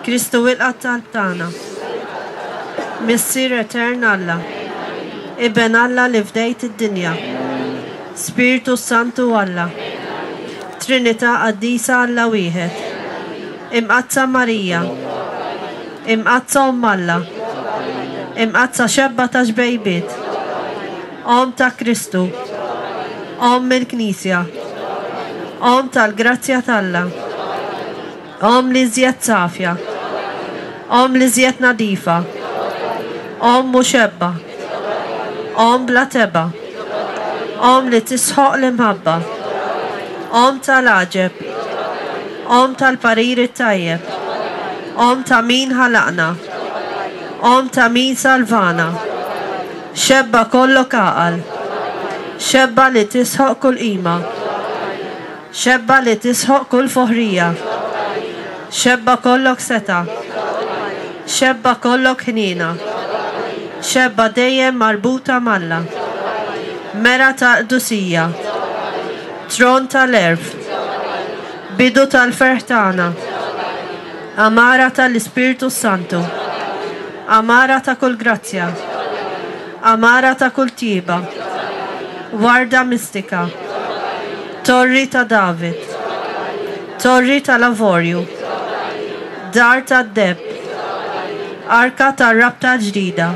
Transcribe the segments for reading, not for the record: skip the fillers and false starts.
Kristu ilqa' t-talb tagħna. Missier Etern Alla. Iben Alla li fdejt id-dinja. Spirtu s-Santu Alla. Trinità Qaddisa Alla wieħed. Imqaddsa Marija. Imqaddsa Omm Alla. Imqaddsa xebba ta' xbejbiet. Omm ta' Kristu. Omm il-Knisja. Omm tal-grazzja t'Alla. Omm l-iżjed safja. Omm l-iżjed nadifa. Omm u xebba. Omm bla tebgħa. Omm li tisħoq l-imħabba. Omm tal-għaġeb. Omm tal-parir it-tajjeb. Omm ta' min ħalaqna. Omm ta' min salvana. Xebba kollok għaqal. Xebba li tisħoq kull qima. Xebba li tisħoq kull foħrija. Xebba kollok setgħa. Xebba kollok ħniena. Xebba dejjem marbuta m'Alla. Mera tal-qdusija. Tron tal-għerf. Bidu tal-ferħ tagħna. Għamara tal-Ispirtu s-Santu. Għamara ta' kull grazzja. Għamara ta' kull tjieba. Warda mistika. Torri ta' David. Torri tal-avorju. Dar tad-deheb. Arka tar-rabta l-ġdida.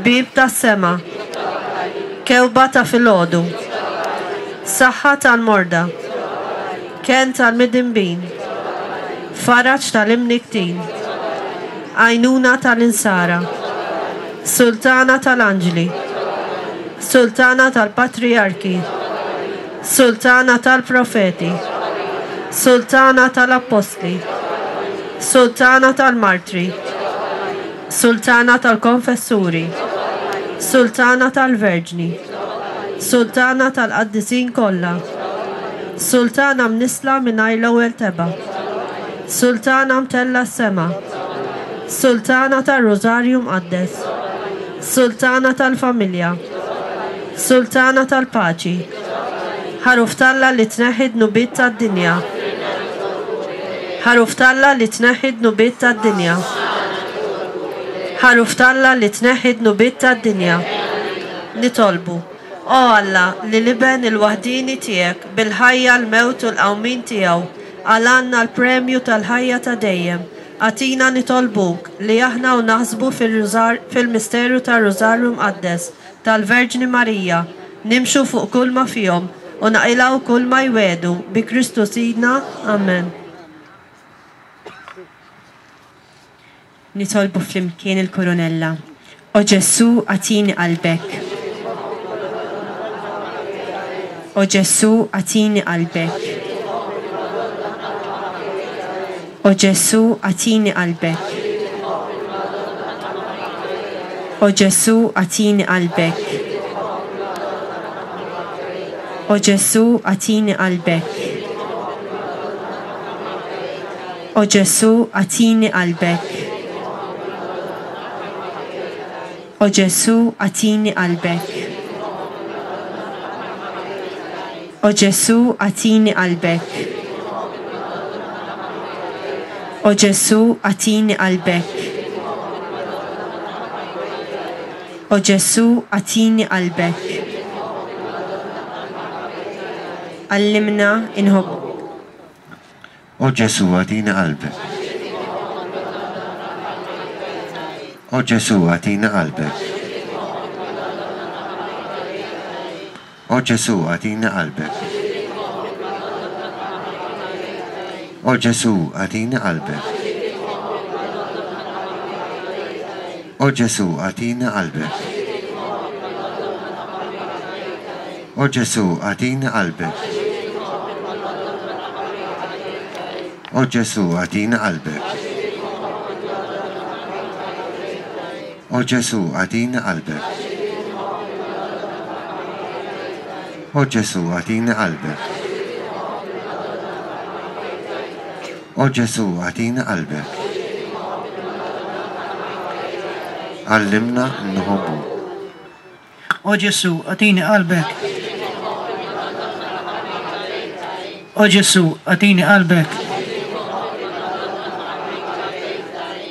Bieb tas-sema. Kewba ta' filgħodu. Saħħa tal-morda. Kenn tal-midinbin. Faraġ tal-imnikktin. Għajnuna tal-insara. Sultana tal-anġli. Sultana tal-patrijarki. Sultana tal-profeti. Sultana tal-appostli. Sultana tal-martri. Sultana tal-konfessuri. Sultana tal-verġni. Sultana tal-qaddisin kollha. Sultana mnissla mingħajr l-ewwel tebgħa. Sultana mtellgħa s-sema. Sultana tar-Rużarju Mqaddes. Sultana tal-familja. Sultana tal-paċi. Ħaruf t'Alla li tneħħi d-dnubiet tad-dinja. Ħaruf t'Alla li tneħħi d-dnubiet tad-dinja. Ħaruf t'Alla li tneħħi d-dnubiet tad-dinja. Nitolbu. O Alla, li l-Iben il-waħdieni tiegħek, bil-ħajja, l-mewt u l-qawmien tiegħu, qalgħalna l-premju tal-ħajja ta' dejjem, agħtina nitolbuk li aħna u naħsbu fil-misteru tar-Rużarju Mqaddes tal-Verġni Marija, nimxu fuq kulma fihom u naqilgħu kulma jwiegħdu, bi Kristu Sidna. Amen. Nitolbu flimkien il-Kurunella. O Ġesù, agħtini qalbek. O Ġesù, agħtini qalbek. O Ġesù, agħtini qalbek. O Ġesù, agħtini qalbek. O Ġesù, agħtini qalbek. O Ġesù, agħtini qalbek. O Ġesù, agħtini qalbek. O Ġesù, agħtini qalbek. O Ġesù, agħtini qalbek. O Ġesù, agħtini qalbek. Għallimna inħobbuk. O Ġesù agħtina qalbek. O Ġesù agħtina qalbek. O Ġesù agħtina qalbek. O Ġesù agħtina qalbek. O Ġesù agħtina qalbek. O Ġesù, agħtini qalbek. O Ġesù, agħtini qalbek. O Ġesù, agħtini qalbek. O Ġesù, agħtini qalbek. O Ġesù, agħtini qalbek. Għallimna nħobbuk. O Ġesù, agħtini qalbek. O Ġesù, agħtini qalbek.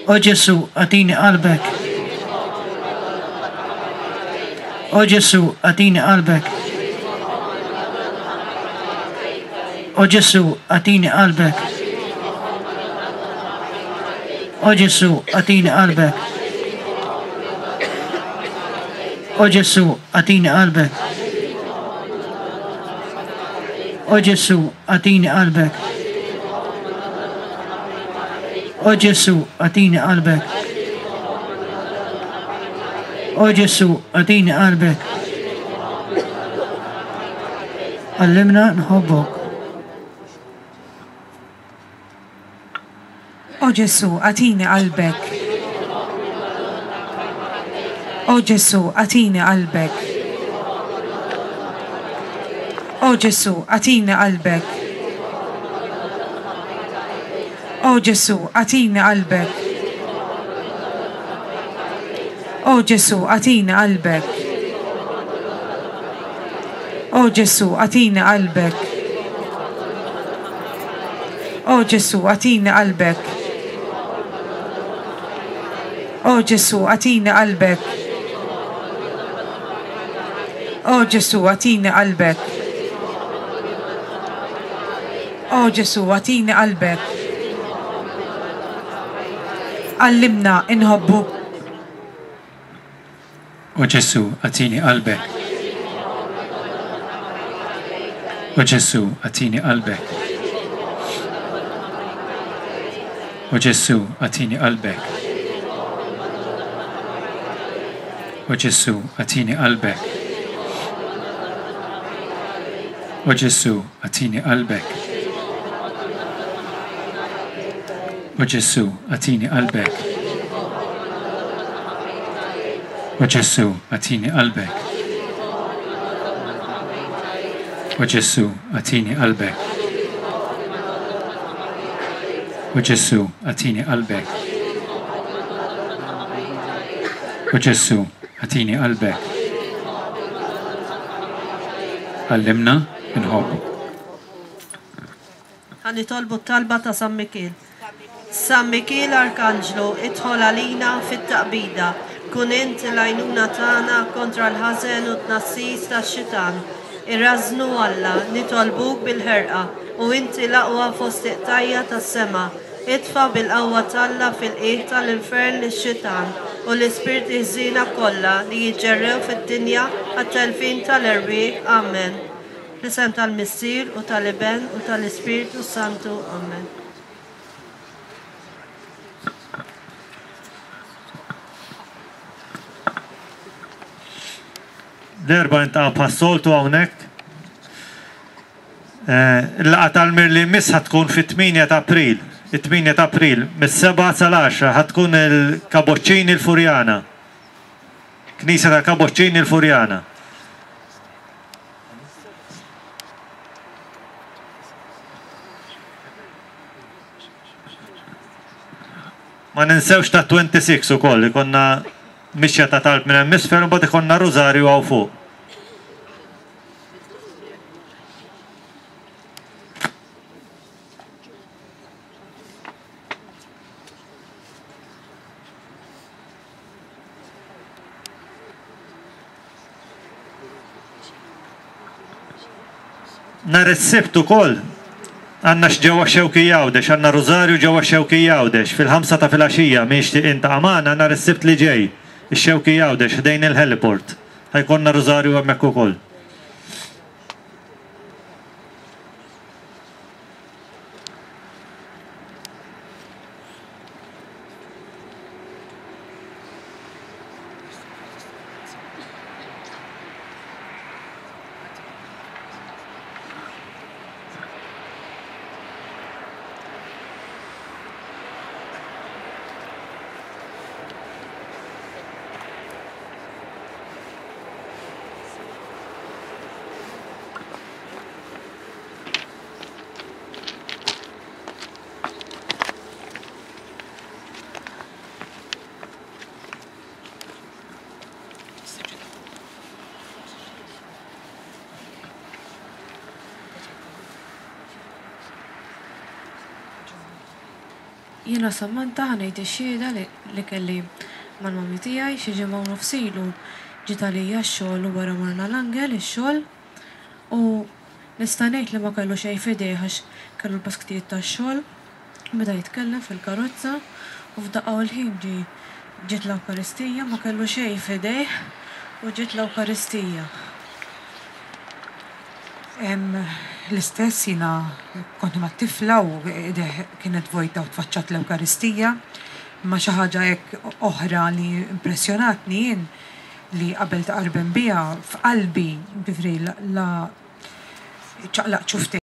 O Ġesù, agħtini qalbek. O Ġesù, agħtini qalbek. O Ġesù, agħtini qalbek. O Ġesù, agħtini qalbek. O Ġesù, agħtini qalbek. O Ġesù, agħtini qalbek. O Ġesù, agħtini qalbek. O Ġesù, agħtini qalbek. Għallimna nħobbok. O Ġesù, agħtini qalbek. O Ġesù, agħtini qalbek. O Ġesù, agħtini qalbek. O Ġesù, agħtini qalbek. O Ġesù, agħtini qalbek. O Ġesù, agħtini qalbek. O Ġesù, agħtini qalbek. O Ġesù, agħtini qalbek. O Ġesù, agħtini qalbek. O Ġesù, agħtini qalbek. Għallimna inħobbuk. O Ġesù, agħtini qalbek. O Ġesù, agħtini qalbek. O Ġesù, agħtini qalbek. O Ġesù, agħtini qalbek. O Ġesù, agħtini qalbek. O Ġesù, agħtini qalbek. O Ġesù, agħtini qalbek. O Ġesù, agħtini qalbek. O Ġesù, agħtini qalbek. O Ġesù, agħtini qalbek. Għallimna nħobbu. Ħa nitolbu t-talba ta' San Mikiel. San Mikiel Arkanġlu, idħol għalina fit-taqbida. Kun int l-għajnuna tagħna kontra l-ħażen u t-tnassis tax-xitan. Irażżnu Alla, nitolbuk bil-ħerqa, u inti l-aqwa fost il-qtajja' tas-sema. Itfa' bil-qawwa t'Alla fil-qiegħ tal-infern lix-xitan u l-ispirti ħżiena kollha li jiġġerrew fid-dinja għat-telfien tal-erwieħ. Amen. Fl-isem tal-Missier, u tal-Iben, u tal-Ispirtu s-Santu. Amen. L-Erbgħa niltaqgħu bħas-soltu hawnhekk. Il-laqgħa tal-Mir li jmiss ħa tkun fit-8 ta' April. It-8 ta' April mis-sebgħa sal-għaxra ħa tkun il-Kaboċċini l-Furjana. Knisja tal-Kaboċċini l-Furjana. Ma ninsewx ta' 26 ukoll ikonna mixja ta' talb minn hemm isfel u mbagħad ikollna rużarju hawn fuq. Nhar is-Sibt ukoll għandna ġewwa x-Xewkija Għawdex, għandna Rużarju ġewwa x-Xewkija Għawdex fil-ħamsa ta' filgħaxija, min jixtieq jiltaqa' magħna nhar is-Sibt li ġej, ix-Xewkija Għawdex ħdejn il-Heliport. Ħa jkollna Rużarju hemmhekk ukoll. Jiena Samantha ħa ngħid ix-xhieda li kelli mal-mummy tiegħi xi ġimgħa u nofs ilu ġiet għalija x-xogħol u wara morna l-Angel ix-xogħol u nista' ngħid li ma kellu xejn f'idejh għax kellu l-basktijiet tax-xogħol beda jitkellem fil-karozza u f'daqqa u l-ħin ġie ġiet l-Ewkaristija ma kellu xejn f'idejh u ġiet l-Ewkaristija. L-istess jiena kont ma' tifla u idejh kienet vojta u tfaċċat l-Ewkaristija. Imma xi ħaġa hekk oħra li impressjonatni jien li qabel tqarben biha f'qalbi, jiġifieri la ċaqlaqt xufftejja.